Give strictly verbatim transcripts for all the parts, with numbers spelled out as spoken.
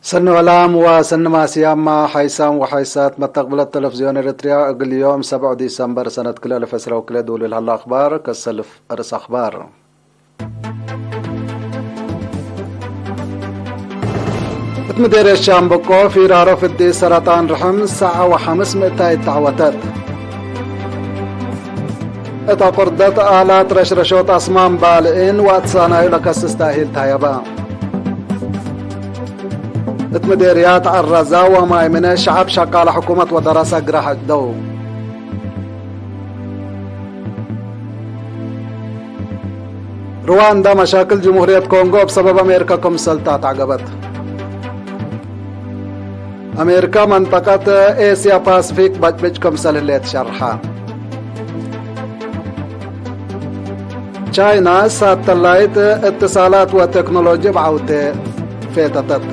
ሰኒ ወላም ወሰኒ ማስያማ ሓይሳም ወሓይሳት መተቅብለት ተለፍዝዮን ኤረትርያ፣ እግል ዮም ሰብዕ ዲሰምበር ሰነት ክልኤ አልፍ ዕስራ ወክልኤ ዱሉል ሀለ አክባር። ከሰልፍ አርእስ አክባር። እት ምዴርየት ሻምበቆ ፊራሮ ፍዲ ሰረጣን ርሕም ሰዓ ወሐምስ ምእታይት ተዐወተት። እት አቁርደት አላት ረሽረሾት አስማም ባልዒን ወአትሳናዩ ለከስስ ተእሂል ተሀየበ። እት ምዴርያት ዐረዛ ወማይምነ ሸዐብ ሸቃለ ሕኩመት ወደረሰ ግራህ ዕደው። ሩዋንዳ መሻክል ጅምሁርየት ኮንጎ እብ ሰበብ አሜሪካ ክምሰል ተአትዐገበት። አሜሪካ መንጠቀት ኤስያ ፓስፊክ በጭብጭ ክምሰል ህሌት ሸርሐ። ቻይና ሳተላይት እትሳላት ወቴክኖሎጂ እብ ዐውቴ ፌተተት።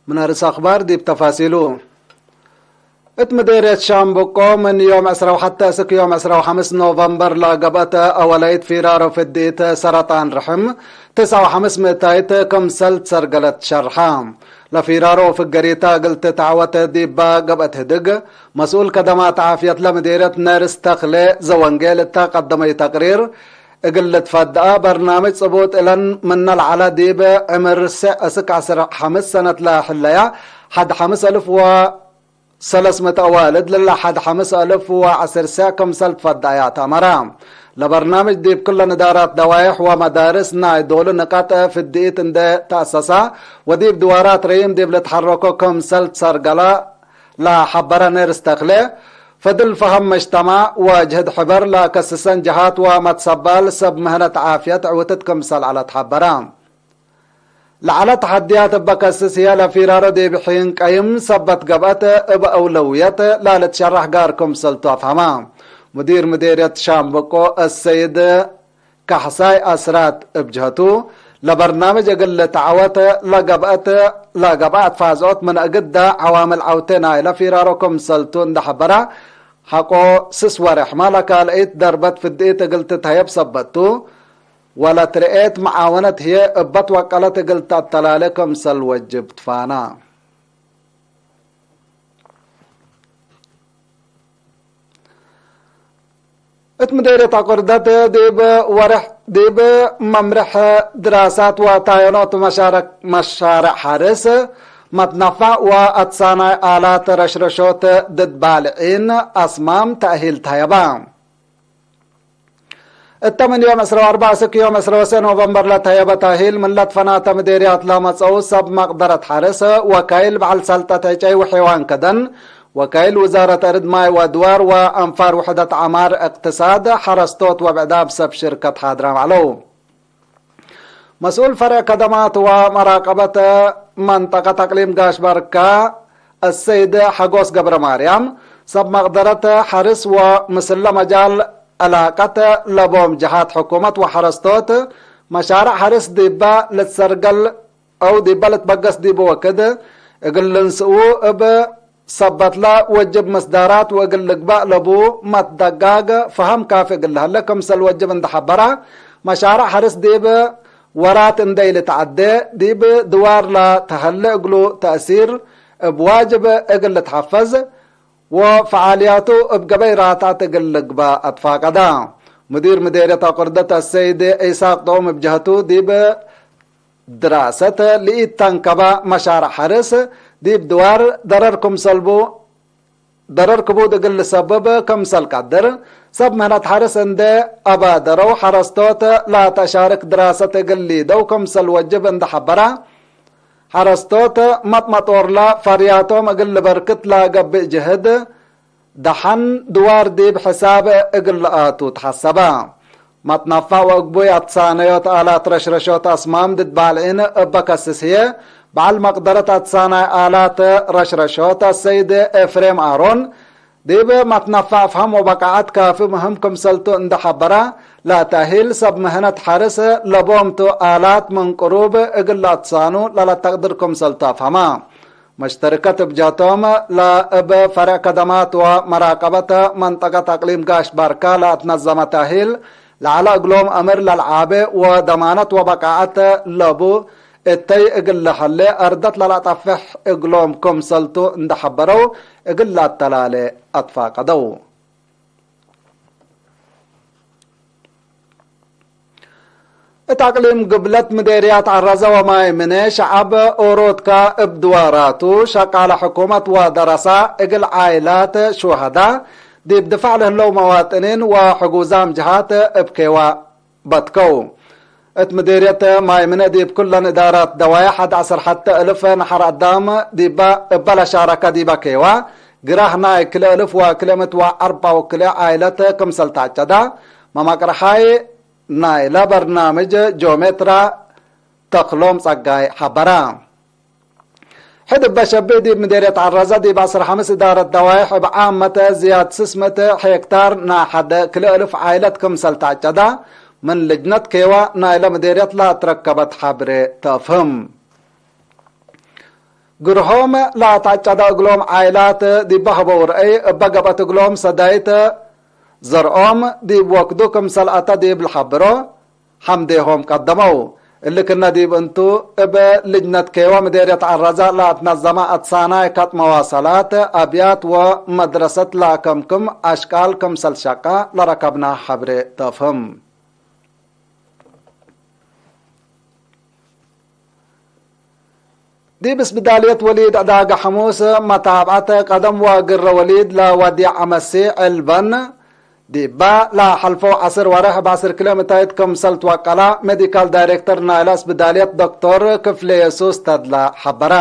ምን አርእስ አክባር ዲብ ተፋሲሉ። እት ምዴርየት ሻምበቆ ምን ዮም ዕስራ ወሐተ እስክ ዮም ዕስራ ወሐምስ ኖቨምበር ለገብአት አወላይት ፊራሮ ፍዲት ሰረጣን ርሕም ትስዓ ወሐምስ ምእታይት ክምሰል ትሰርገለት ሸርሐ። ለፊራሮ ፍገሪታ እግል ትትዐወት ዲባ ገብአት ህድግ፣ መስኡል ከደማት ዓፍየት ለምዴርየት ነርስ ተክሌ ዘወንጌል እተ ቀደመዩ ተቅሪር፣ እግል ልትፈድአ በርናምጅ ጽቡጥ እለን ምነ ለዐለ ዲብ ዕምር ስዕ እስክ ዐስር ሐምስ ሰነት ለህለያ ሐድ ሐምስ አልፍ ወሰለስ ምእት አዋልድ ለለ ሐድ ሐምስ አልፍ ወዐስር ስዕ ክምሰል ትፈድአያ ተአመረ። ለበርናምጅ ዲብ ክለን እዳራት ደዋይሕ ወመዳርስ ናይ ዶሉ ንቃጥ ፍድኢት እንዴ ተአሰሳ ወዲብ ድዋራት ረይም ዲብ ልትሐረኮ ክምሰል ትሰርገለ ለሐበረ ነርስ ተክሌ፣ ፈድል ፈሀም መጅተማዕ ወጅህድ ሕበር ለአከስሰን ጀሃት ወመትሰባል ሰብ ምህነት ዓፍየት ዕውትት ክምሰል ዐለት ሐበረ። ለዐለ ተሐድያት እበ ከስስ ህዬ ለፊራሮ ዲብ ሒን ቀይም ሰበት ገብአት እብ አውለውየት ለልትሸራሕ ጋር ክምሰልቱ አፍሀመ። ሙዲር ምዴርየት ሻምበቆ አሰይድ ካሕሳይ አስራት እብ ጀህቱ፣ ለበርናምጅ እግል ልትዐወት ለገብአት፣ ለገብአት ፋዝኦት ምን እግደ ዐዋምል ዐውቴ ናይለ ፊራሮ ክምሰልቱ እንዴ ሐበረ፣ ሐቆ ስስ ወሬሕ ማለ ካልአይት ደርበት ፍድኢት እግል ትትሀየብ ሰበትቱ፣ ወለትርኤት መዓወነት ህዬ እበ ትወቀለት እግል ተአተላሌ ክምሰል ወጅብ ትፋና። እት ምዴርየት አቁርደት ዲብ ወርሕ፣ ዲብ መምርሕ ድራሳት ወታየኖት መሻረ-፣ መሻርዕ ሐርስ፣ መትነፋዕ ወአትሳናይ አላት ረሽረሾት ድድ ባልዒን አስማም ተእሂል ተሀየበ። እተ ምን ዮም ዕስራ ወአርበዕ እስክ ዮም ዕስራ ወሰዕ ኖቨምበር ለተሀየበ ተእሂል፣ ምን ለትፈናተ ምዴርያት ለመጸኡ ሰብ መቅደረት ሐርስ፣ ወካይል በዐል ሰልጠት ዕጨይ ወሕዋን ከደን፣ ወካይል ውዛረት እርድ ማይ ወአድዋር ወአንፋር ውሕደት ዐማር እቅትሳድ፣ ሐረስቶት ወብዕዳም ሰብ ሽርከት ሓድራም ዐለው። መስኡል ፈርዕ ከደማት ወመራቀበት መንጠቀት አቅሊም ጋሽ ባርካ፣ አሰይድ ሐጎስ ገብረማርያም፣ ሰብ መቅደረት ሐርስ ወምስለ መጃል ዕላቀት ለቦም ጀሃት ሕኩመት ወሐረስቶት፣ መሻርዕ ሐርስ ዲበ ልትሰርገል አው ዲበ ልትበገስ ዲቡ ወክድ እግል ልንስኡ እብ ሰበትለ ወጅብ ምስዳራት ወእግል ልግበእ ለቡ መትደጋግ ፈሀም ካፊ እግል ለሀለ ክምሰል ወጅብ እንዴ ሐበረ፣ መሻርዕ ሐርስ ዲብ ወራት እንዴ ኢልትዐዴ፣ ዲብ ድዋር ለተሀሌ እግሉ ተእሲር እብ ዋጅብ እግል ልትሐፈዝ ወፈዓልያቱ እብ ገበይ ራትዐት እግል ልግበእ አትፋቀደ። ሙዲር ምዴርየት አቁርደት አሰይድ ኢሳቅ ጦም እብ ጀህቱ፣ ዲብ ድራሰት ለኢተንከበ መሻርዕ ሐርስ ዲብ ድዋር ደረር ክምሰልቡ፣ ደረር ክቡድ እግል ልሰብብ ክምሰል ቀድር፣ ሰብ ምህነት ሐርስ እንዴ አባደረው ሐረስቶት ለተሻርክ ድራሰት እግል ሊደው ክምሰል ወጅብ እንዴ ሐበረ፣ ሐረስቶት መጥመጦርለ ፈርያቶም እግል ልበርክት ለገብእ ጅህድ፣ ደሐን ድዋር ዲብ ሕሳብ እግል ለአቱ ተሐሰበ። መትነፋዕ ወእግቡይ አትሳነዮት አላት ረሽረሾት አስማም ድድ ባልዒን እበ ከስስ ህዬ፣ በዐል መቅደረት አትሳናይ አላት ረሽረሾት አሰይድ ኤፍሬም አሮን፣ ዲብ መትነፋዕ ፍሀም ወበቃዐት ካፊ ምህም ክምሰልቱ እንዴ ሐበረ፣ ለተአሂል ሰብ ምህነት ሐርስ ለቦምቱ አላት ምን ቅሩብ እግል ለአትሳኑ ለለተቅድር ክምሰልቱ አፍሀማ። መሽተርከት እብ ጀህቶም ለእብ ፈርዕ ከደማት ወመራቀበት መንጠቀት አቅሊም ጋሽ ባርካ ለአትነዘመ ተእሂል ለዐለ እግሎም አምር ለልዓቤ ወደማነት ወበቃዐት ለቡ እተይ እግል ለሀሌ አርደት ለለአጠፍሕ እግሎም ክምሰልቱ እንደ ሐበረው እግል ለአተላሌ አትፋቀደው። እት አቅሊም ግብለት ምዴርያት ዐረዘ ወማይ ምነ ሸዐብ ኦሮትካ እብ ድዋራቱ ሸቃለ ሕኩመት ወደረሳ እግል ዓይላት ሹሀዳ ዲብ ድፋዕ ለህለው መዋጥኒን ወሕጉዛም ጀሃት እብ ኬዋ በትከው። እት ምዴርየት ማይ ምነ ዲብ ኩለን እዳራት ደዋየ ሐድ ዐስር ሐተ እልፍ ነሐር አዳም ዲባ እበ ለሻረከ ዲበ ኬዋ ግራህ ናይ ክልኤ እልፍ ወክልኤ ምእት ወአርባ ወክልኤ ዓይለት ክምሰል ተዐጨዳ መመቅርሓይ ናይለ በርናምጅ ጂኦሜትራ ተክሎም ጸጋይ ሐበረ። ሕድ እበ ሸብህ ዲብ ምዴርየት ዐረዘ ዲብ ዐስር ሐምስ እዳረት ደዋይሕ እብ ዓመተ ዝያድ ስስ ምእት ሄክታር ናይ ሐደ ክልኤ እልፍ ዓይለት ክምሰል ተዐጨዳ ምን ልጅነት ኬዋ ናይለ ምዴርየት ለአትረከበት ሐብሬ ተአፍህም። ግርሆም ለአትዐጨደ እግሎም ዓይላት ዲበ ሀበው ርአይ እበ ገብአት እግሎም ሰዳይት ዘርኦም ዲብ ወክዱ ክምሰል አተ ዲብ ለሐብሮ ሐምዴሆም ቀደመው። እሊ ክነ ዲብ እንቱ፣ እብ ልጅነት ኬወ ምዴርየት ዐረዘ ለአትነዘመ አትሳናይ ከጥ መዋሰላት፣ አብያት ወመድረሰት ለአከምክም አሽቃል ክምሰል ሸቀ ለረከብነ ሐብሬ ተፍህም። ዲብ ስብዳልየት ወሊድ ዕዳገ ሐሙስ መታብዐት ቀደም ወግረ ወሊድ ለወዲዕ አመሲ ዕልበን፣ ዲባ ለሐልፈው ዐስር ወርሕ እብ ዐስር ኪሎ ሜታይት ክምሰል ትወቀላ ሜዲካል ዳይሬክተር ናይለ ስብዳልየት ዶክቶር ክፍሌ የሱስ ተድላ ሐበረ።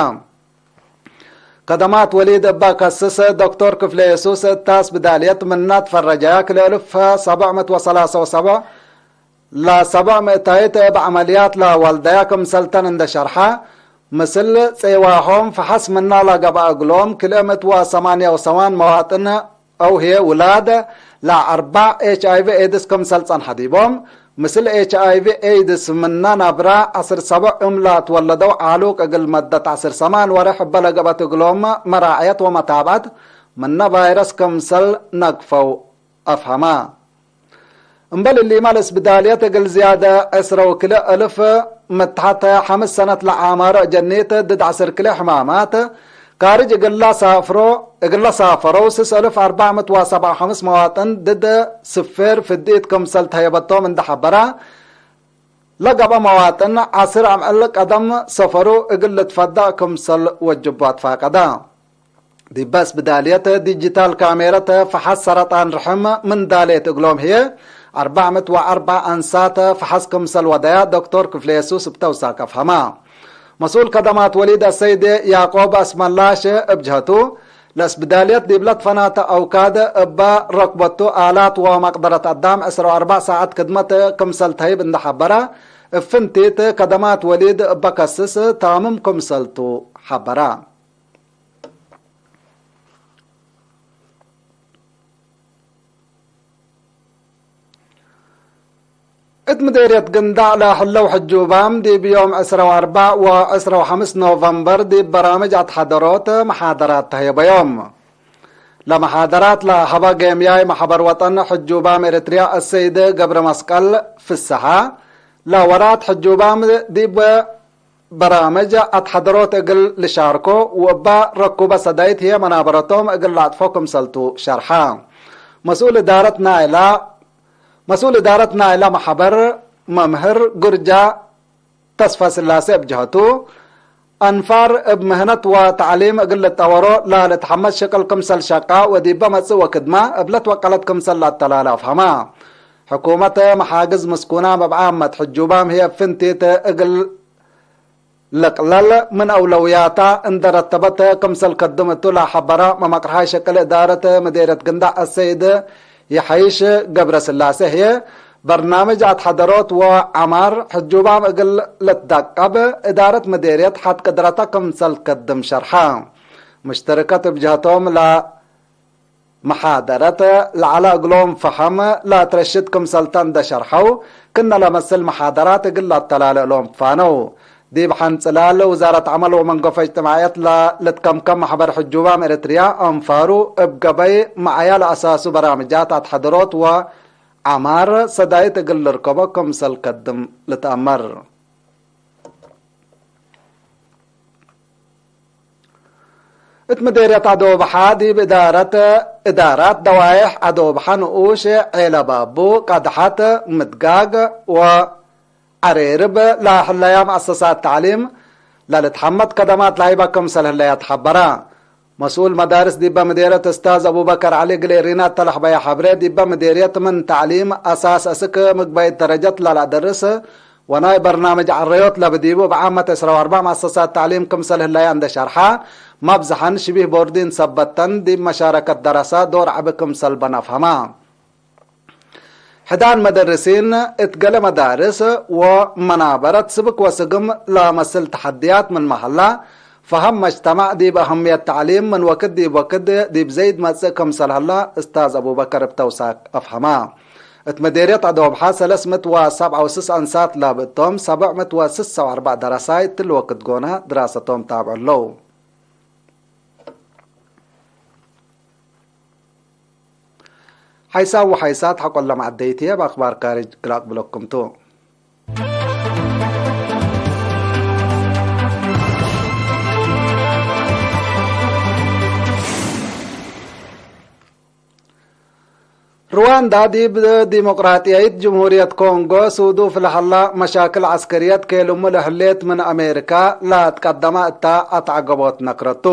ከደማት ወሊድ እበ ከስስ ዶክቶር ክፍሌ የሱስ እታ ስብዳልየት ምነ ትፈረጃያ ክልኤ እልፍ ሰብዕ ምእት ወሰላሰ ወሰብዕ ለሰብዕ ምእታይት እብ ዐመልያት ለወልደያ ክምሰልተን እንደ ሸርሐ፣ ምስል ጼዋሆም ፈሐስ ምና ለገብአ እግሎም ክልኤ ምእት ወሰማንያ ወሰማን መዋጥን አው ህዬ ውላድ ለአርባዕ ኤች አይ ቪ ኤድስ ክምሰል ጸንሐ ዲቦም፣ ምስል ኤች አይ ቪ ኤድስ ምነ ነብረ ዐስር ሰብዕ እም ለትወለደው ዓሉቅ እግል መደት ዐስር ሰማን ወርሕ እበ ለገብአት እግሎም መራዕየት ወመታብዐት ምነ ቫይረስ ክምሰል ነግፈው አፍሀማ። እምበል እሊመ ለስብዳልየት እግል ዝያደ ዕስረ ወክልኤ እልፍ ምትሐተ ሐምስ ሰነት ለዓማሮ አጀኒት ድድ ዐስር ክልኤ ሕማማት ካርጅ እግለ ሳፍሮ፣ እግለ ሳፈረው ስስ እልፍ አርባዕ ምእት ወሰብዓ ወሐምስ መዋጥን ድድ ስፌር ፍዲት ክምሰል ተህየበቶም እንደ ሐበራ፣ ለገብአ መዋጥን ዐስር አምዕል ቀደም ሰፈሩ እግል ልትፈዳእ ክምሰል ወጅቡ አትፋቀዳ። ዲበ ስብዳልየት ዲጂታል ካሜረት ፈሐስ ሰረጣን ርሕም ምን ዳሌት እግሎም ህዬ፣ አርባዕ ምእት ወአርበዕ አንሳት ፈሐስ ክምሰል ወደያ ዶክቶር ክፍሌ የሱስ እብ ተውሳክ አፍሀማ። መስኡል ከደማት ወሊድ አሰይድ ያቆብ አስመላሽ እብ ጀህቱ፣ ለስብዳልየት ዲብ ለትፈናተ አውካድ እበ ረክበቱ አላት ወመቅደረት አዳም ዕስራ ወአርበዕ ሳዐት ክድመት ክምሰል ተህይብ እንደ ሐበረ፣ እብ ፍንቲት ከደማት ወሊድ እበ ከስስ ታምም ክምሰልቱ ሐበረ። እት ምዴርየት ግንዳዕ ለህለው ሕጁባም ዲብ ዮም ዕስራ ወአርበዕ ወዕስራ ወሐምስ ኖቨምበር ዲብ በራምጅ አትሐደሮት መሓደራት ተህየበዮም። ለመሓደራት ለሀበ ጌምያይ መሕበር ወጠን ሕጁባም ኤረትርያ አሰይድ ገብረ መስቀል ፍሰሐ፣ ለወራት ሕጁባም ዲብ በራምጅ አትሐደሮት እግል ልሻርኮ ወእበ ረኩበ ሰዳይት ህዬ መናበረቶም እግል ለአጥፎ ክምሰልቱ ሸርሐ። መስኡል እዳረት ናይላ፣ መስኡል እዳረት ናይላ መሕበር መምህር ጉርጃ ተስፋስላሴ እብ ጀሀቱ፣ አንፋር እብ ምህነት ወተዕሊም እግል ልጠወሮ ለልትሐመስ ሽቅል ክምሰል ሸቃ ወዲበ መጽእ ወክድመ እብ ለትወቀለት ክምሰል ለአተላለ አፍሀመ። ሕኩመት መሓግዝ ምስኩናም እብ ዓመት ሕጁባም ህዬ ፍንቲት እግል ልቅለል ምን አውለውያታ እንደ ረተበት ክምሰል ከድም እቱ ለሐበረ መመቅርሓይ ሸቅል እዳረት ምዴርየት ግንዳዕ አሰይድ የሐይሽ ገብረስላሴ ህዬ፣ በርናምጅ አትሐደሮት ወዐማር ሕጁባም እግል ልትደቀብ እዳረት ምዴርየት ሐት ቅድረተ ክምሰል ከድም ሸርሐ። ሙሽተርከት እብ ጀህቶም ለ መሓደረት ለዐለ እግሎም ፈሀም ለአትረሽድ ክምሰልተ እንደ ሸርሐው፣ ክነ ለመስል መሓደራት እግል ለአተላለ እሎም ትፋነው። ዲብ ሐንጽላል ውዛረት ዐመል ወመንገፎ እጅትማዕየት ለልትከምከም ማሕበር ሕጁባም ኤረትርያ አንፋሩ እብ ገበይ መዓያ ለአሳሱ በራምጃት አትሐደሮት ወ ዐማር ሰዳይት እግል ልርከቦ ክምሰል ከድም ልትአመር። እት ምዴርየት አዶብሓ ዲብ እዳረት፣ እዳራት ደዋይሕ አዶብሓ ንኡሽ፣ ዔለ ባቡ፣ ቀድሐት፣ ምድጋግ ወዐሬርብ ለህለያ መአሰሳት ተዕሊም ለልትሐመድ ከደማት ለሀይበ ክምሰል ህለያ ተሐበረ። መስኡል መዳርስ ዲበ ምዴርየት እስታዝ አቡበከር ዐሊ እግል ኤሪና እተ ለሐበየ ሐብሬ፣ ዲበ ምዴርየት ምን ተዕሊም አሳስ እስክ ምግበይት ደረጀት ለለአደርስ ወናይ በርናምጅ ዐረዮት ለብዲቡ እብ ዓመት ዕስራ ወአርበዕ መአሰሳት ተዕሊም ክምሰል ህለያ እንደ ሸርሐ፣ መብዝሐን ሽቢህ ቦርዲን ሰበተን ዲብ መሻረከት ደረሰ ዶር ዐቢ ክምሰል በን አፍሀማ። ሕዳን መደርሲን እት ገሌ መዳርስ ወመናበረት ስብክ ወስግም ለመስል ተሐድያት ምንመ ሀላ፣ ፈሀም መጅተማዕ ዲብ አህምየት ተዕሊም ምን ወክድ ዲብ ወክድ ዲብ ዘይድ መጽእ ክምሰል ሀላ፣ እስታዝ አቡበከር እብ ተውሳክ አፍሀማ። እት መዴርየት አዶብሓ ሰለስ ምት ወሰብዓ ወስስ አንሳት ላብእቶም፣ ሰብዕ ምት ወስስ ወአርበዕ ደረሳይ እትሊ ወክድ ጎነ ድራሰቶም ታብዖ ለው። ሐይሳም ወሐይሳት ሐቆለ መዐደይትዬ፣ እብ አክባር ካርጅ እግል አቅብለኩም ቱ። ርዋንዳ ዲብ ዲሞቅራጥያይት ጅምሁርየት ኮንጎ ሱዱፍ ለሀላ መሻክል ዐስከርየት ኬልሙ ለህሌት ምን አሜሪካ ለትቀደመ እታ አትዐገቦት ነክረቱ።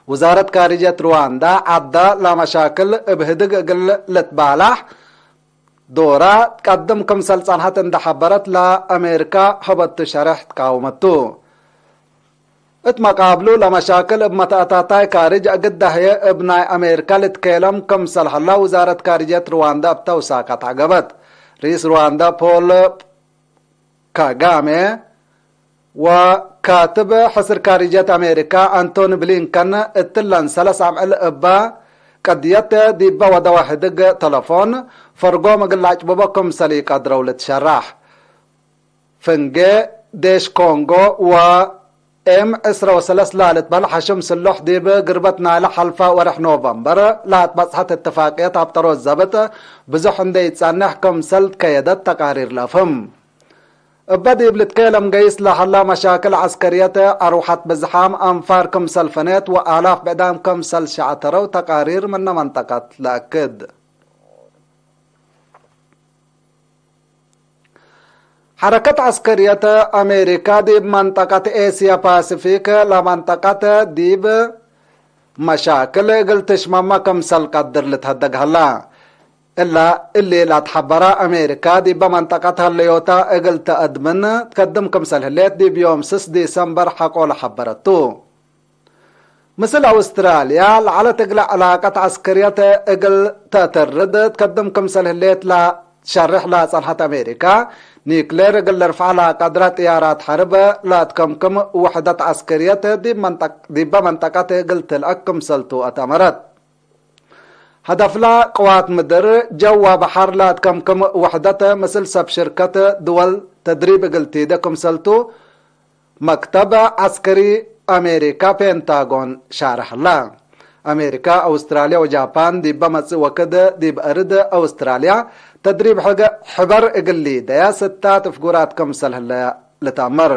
ውዛረት ካርጅየት ርዋንዳ ዐዳ ለመሻክል እብ ህድግ እግል ልትባላሕ ዶራ ትቀድም ክምሰል ጸንሐት እንደ ሐበረት ለአሜሪካ ሀበቱ ሸሬሕ ትቃወመቱ። እት መቃብሉ ለመሻክል እብ መተአታታይ ካርጅ እግል ደህየ እብ ናይ አሜሪካ ልትኬለም ክምሰል ሀላ ውዛረት ካርጅየት ርዋንዳ እብ ተውሳካት ዐገበት። ርኢስ ርዋንዳ ፖል ካጋሜ ወካትብ ሕስር ካርጅየት አሜሪካ አንቶኒ ብሊንከን እትለን ሰለስ አምዕል እበ ቀድየት ዲበ ወደወ ህድግ ተለፎን ፈርጎም እግል ለአጭብቦ ክምሰል ኢቀድረው ልትሸራሕ። ፍንጌ ዴሽ ኮንጎ ወኤም ዕስረ ወሰለስ ላልትበህል ሐሽም ስሉሕ ዲብ ግርበት ናይለ ሐልፈ ወርሕ ኖቨምበር ለአትበጽሐት እትፋቅየት አብጠሮት ዘብጥ ብዙሕ እንዴ ኢትጸንሕ ክምሰል ትከየደት ተቃሪር ለአፍህም። እበ ዲብ ልትኬለም ገይስ ለሀላ መሻክል ዐስከርየት አርወሐት ብዝሓም አንፋር ክምሰል ፈኔት ወአላፍ ብዕዳም ክምሰል ሸዐተረው ተቃሪር ምነ መንጠቀት ለአክድ። ሐረከት ዐስከርየት አሜሪካ ዲብ መንጠቀት ኤስያ ፓሲፊክ ለመንጠቀት ዲብ መሻክል እግል ትሽመመ ክምሰል ቀድር ልትሀደግ ሀላ። እላ እሊ ለአትሐበረ አሜሪካ ዲበ መንጠቀት ሀለዮታ እግል ተአድምን ትከድም ክምሰል ህሌት ዲብ ዮም ስስ ዲሰምበር ሐቆለ ሐበረቱ። ምስል አውስትራልያ ለዐለት እግለ ዕላቀት ዐስከርየት እግል ተአተርድ ትከድም ክምሰል ህሌት ለሸርሕ ለጸንሐት አሜሪካ፣ ኒክሌር እግል ልርፍዐ ለቀድረ ጥያራት ሐርብ ለአትከምክም ውሕደት ዐስከርየት ዲብ መንጠቅ-፣ ዲበ መንጠቀት እግል ትልአክ ክምሰልቱ አትአመረት። ሀደፍላ ቅዋት ምድር፣ ጀው ወበሐር ለአትከምክም ውሕደት ምስል ሰብ ሽርከት ድወል ተድሪብ እግል ቲደ ክምሰልቱ መክተብ ዐስከሪ አሜሪካ ፔንታጎን ሻርሐ ሀላ። አሜሪካ፣ አውስትራልያ ወጃፓን ዲበ መጽእ ወክድ ዲብ አርድ አውስትራልያ ተድሪብ ሕገ-፣ ሕበር እግል ሊደያ ስታት ፍጉራት ክምሰል ህለ ልትአመር።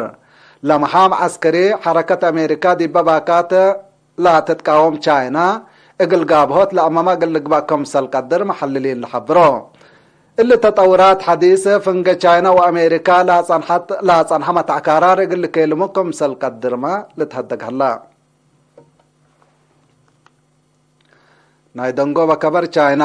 ለመሓም ዐስከሪ ሐረከት አሜሪካ ዲበ ባካት ለትትቃወም ቻይና እግል ጋብሆት ለአመመ እግል ልግበእ ክምሰል ቀድር መሐልሊን ለሐብሮ። እሊ ተጠውራት ሐዲስ ፍንጌ ቻይና ወአሜሪካ ለአጸንሐት፣ ለአጸንሐ መትዐካራር እግል ልኬልሙ ክምሰል ቀድርመ ልትሀደግ ሀላ። ናይ ደንጎበ ከበር ቻይና።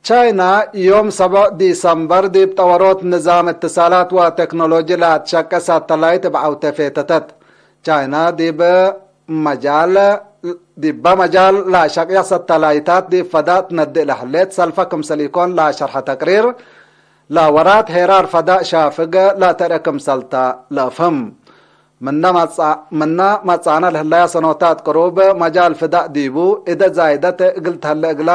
ቻይና ዮም ሰብዕ ዲሰምበር ዲብ ጠወሮት ንዛም እትሳላት ወቴክኖሎጂ ለአትሸቄ ሳተላይት እብ ዐውቴ ፌተተት። ቻይና ዲብ መጃል፣ ዲበ መጃል ለአሸቅየ ሳተላይታት ዲብ ፈዳእ ትነድእ ለህሌት ሰልፈ ክምሰል ኢኮን ለአሸርሐ ተቅሪር፣ ለወራት ሄራር ፈዳእ ሻፍግ ለተርኤ ክምሰልተ ለአፍህም። ምነ መጽ-፣ ምነ መጽአነ ለህለያ ሰኖታት ቅሩብ መጃል ፍዳእ ዲቡ እደ ዛይደት እግል ተህለ እግላ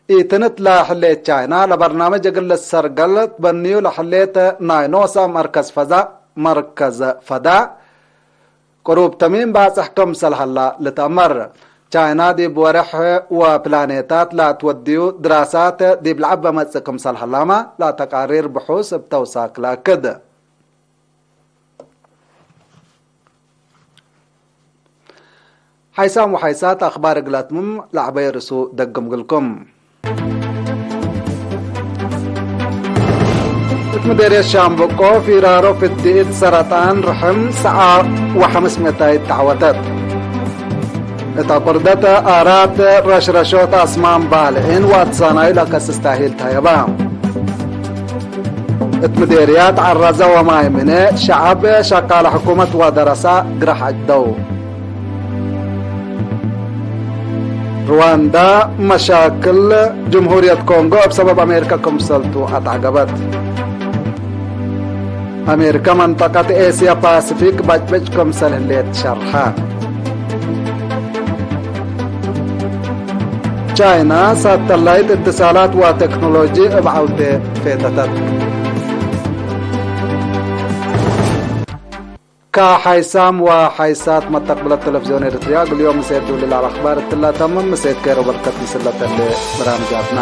ኢትንት ለህሌት ቻይና፣ ለበርናምጅ እግል ልሰርገል ትበንዩ ለህሌት ናይ ኖሳ መርከዝ ፈዛእ፣ መርከዝ ፈዳእ ቅሩብ ተሚም ባጽሕ ክምሰል ሀላ ልትአመር። ቻይና ዲብ ወሬሕ ወፕላኔታት ለትወድዩ ድራሳት ዲብ ለዐበ መጽእ ክምሰል ሀላመ ለተቃሪር ብሑስ እብ ተውሳክ ለአክድ። ሓይሳም ወሓይሳት አክባር እግል አትምም ለዐበየ ርእሱ ደግም እግልኩም። እት ምዴርየት ሻምበቆ ፊራሮ ፍድኢት ሰረጣን ርሕም ሰዓ ወሐምስ ምእታይት ተዐወተት። እት አቁርደት አራት ረሽረሾት አስማም ባልዒን ወአትሳናዩ ለከስስ ታሂል ተሀየበ። እት ምዴርያት ዐረዘ ወማይ ምነ ሸዐብ ሸቃለ ሕኩመት ወደረሳ ግራሕ ዐድደው። ሩዋንዳ መሻክል ጅምሁርየት ኮንጎ እብ ሰበብ አሜሪካ ክምሰልቱ አትዐገበት። አሜሪካ መንጠቀት ኤስያ ፓሲፊክ በጭበጭ ክምሰል ህሌት ሸርሐ። ቻይና ሳተላይት እትሳላት ወቴክኖሎጂ እብ ዐውቴ ፌተተት። ከሓይሳም ወሓይሳት መተቅብለት ተለፍዝዮን ኤረትርያ፣ እግል ዮም ምሴት ዱል ለአክባር እትላ ተምም፣ ምሴት ኬሮ በርከት ምስለ ተሌ በራምጃትና።